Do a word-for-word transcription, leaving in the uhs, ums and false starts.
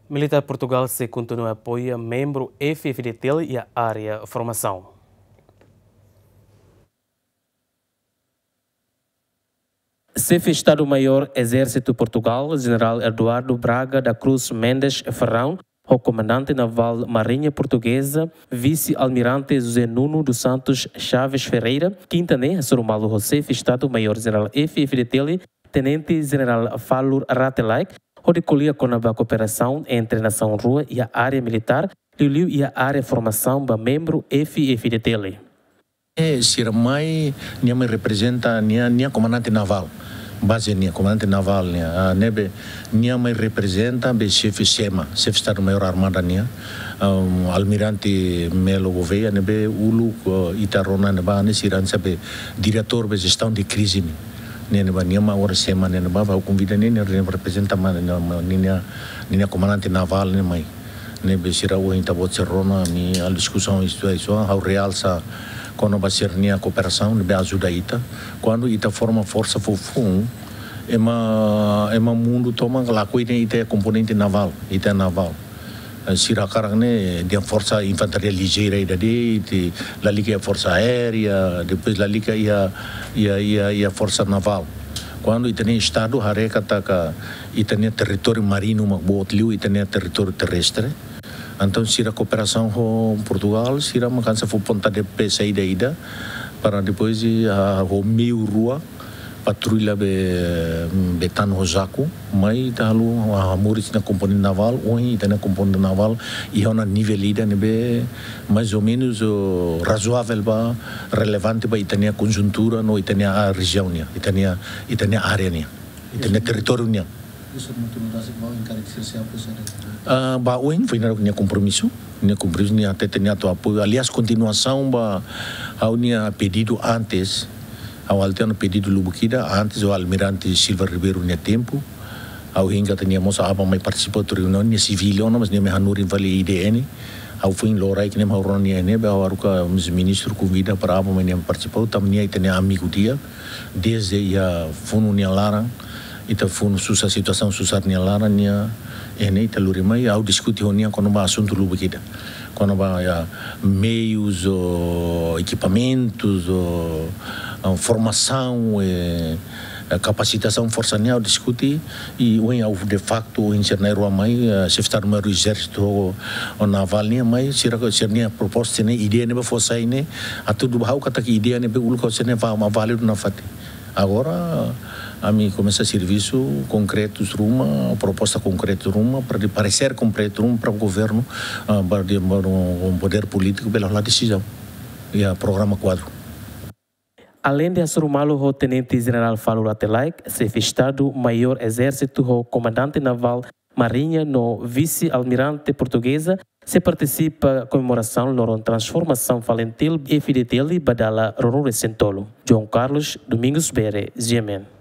Militár Portugál sei kontinua apoia membru F-FDTL iha área formasaun. Xefe Estadu-Maiór Ezérsitu Portugál, Jenerál Eduardo Braga da Cruz Mendes Ferrão, ho Komandante Navál Mariña Portugeza, Vise-Almirante José Nuno dos Santos Chaves Ferreira, kinta ne'e hasoru malu ho Xefe Estadu-Maiór Jenerál F-FDTL, Tenente Jenerál Falur Rate Laek, hodi ko'alia kona-ba kooperasaun entre nasaun rua iha área militár, liuliu iha área formasaun ba membru F-FDTL. Eh, sira mai, nia mai reprezenta nia, nia komandante navál. Baze nia, komandante navál nia. Ah, ne'ebé nia mai reprezenta be xefe SEMA, Xefe Estadu-Maiór Armada nia. Um, Almirante Melo Gouveia, ne'ebé uluk, eh, ita rona ne'ebá, ne'e sira hanesan be diretór be jestaun de krize nian. Ne'e ne'ebá, nia mai agora SEMA ne'e ne'ebá, ha'u konvida nia, nia reprezenta mai, nia, nia, nia, nia komandante navál nia mai. Ne'ebé sira ohin ita-boot sira rona, ami halo diskusaun isto, isto, ha'u realsa kona-ba sira-nia kooperasaun, ne'ebé ajuda ita. Kuandu ita forma forsa foufoun, ema, ema mundu tomak lakohi de'it ita komponente navál, ita navál. Eh, sira hakarak ne'e, dehan forsa infantaria lijeira ida de'it, lalika iha forsa aérea, depois lalika iha, iha, iha, iha forsa navál. Kuandu ita-nia Estadu haree katak ita-nia territóriu maríniu mak boot liu ita-nia territóriu terrestre. Entaun, sira kooperasaun ho Portugál, sira mak hanesan fó ponta de pé saida ida, para depois, ah, ho meiu rua, patrulla be, be tan ho jaku, mai ita halo, ah, moris ita-nia komponente navál, ohin ita-nia komponente navál, iha ona nivel ida ne'ebé, mais ou menus, oh, razoável ba, relevante ba ita-nia konjuntura, no ita-nia, ah, rejiaun nian, ita-nia, ita-nia área nian, ita-nia territóriu nian. Isso muito no Brasil, mal encara que se se apoia. Ah, ba ohin, foin naruk nia kompromisu, nia kompromisu, nia hatete nia atu apoiu. Aliás, kontinuasaun ba ha'u-nia pedidu antes, ha'u halo tiha ona pedidu lubuk ida, antes ho Almirante Silva Ribeiro nia tempu. Ha'u hein katak nia mós aban mai partisipa hotu reuniaun, nia sivíl ona, mas nia mai hanorin fali I D N. Ha'u foin loraik ne'e ha'u rona nia ne'ebé, ha'u haruka ministru konvida para aban mai nia partisipa, tanba nia ita-nia amigu di'ak, dezde iha funu nia laran, ita funu susar, situasaun susar nia laran, nia, eh, ne'e ita lori mai, ha'u diskute ho nia kona-ba asuntu lubuk ida. Kona-ba, ya, meius, ou ekipamentus, ou, ah, formasaun, eh, eh, kapasitasaun forsa nian ha'u diskute, i ohin ha'u de faktu, ohin sira na'in-rua mai, eh, Xefe Estadu-Maiór Ezérsitu ho, ho Navál nian mai, sira, sira-nia proposta ne'e, ideia ne'ebé fó sai ne'e, atu duni ba ha'u katak ideia ne'ebé uluk ha'u sente ne'e va-, ma válidu nafatin. Agora, ami komesa servisu konkretus ruma, proposta konkretu ruma, para de paresér konkretu ruma para governu, ah, para de, para podér polítiku, bele hola desizaun. Ya, programa kuadru. Aleinde hasoru malu ho Tenente Jenerál Falur Rate Laek, Xefe Estadu-Maiór Ezérsitu ho Komandante Navál Mariña no Vise-Almirante Portugeza, sei partisipa komemorasaun loron transformasaun FALINTIL F-FDTL ba dala ruanulu-resin-tolu. João Carlos Domingos Bere, G M N.